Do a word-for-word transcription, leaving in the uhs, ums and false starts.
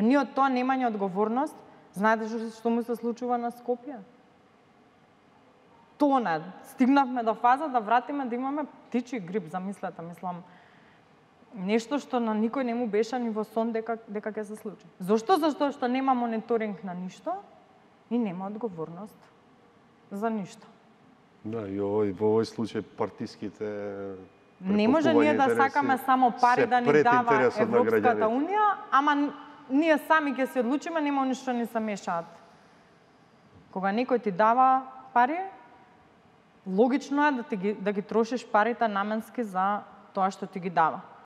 Па ние од тоа немање одговорност, знаете што, што му се случува на Скопје? Тона, стигнавме до фаза да вратиме да имаме птичи грип, замислете, мислам, нешто што на никој не му беше ни во сон дека дека ќе се случи. Зошто? Зашто што нема мониторинг на ништо и нема одговорност за ништо. Да, и овој во овој случај партиските не може ние да сакаме само пари да ни дава Европската унија, ама ние сами ќе се одлучиме, нема ништо ни се мешаат. Кога некој ти дава пари, логично е да ти ги да ги трошиш парите наменски за тоа што ти ги дава.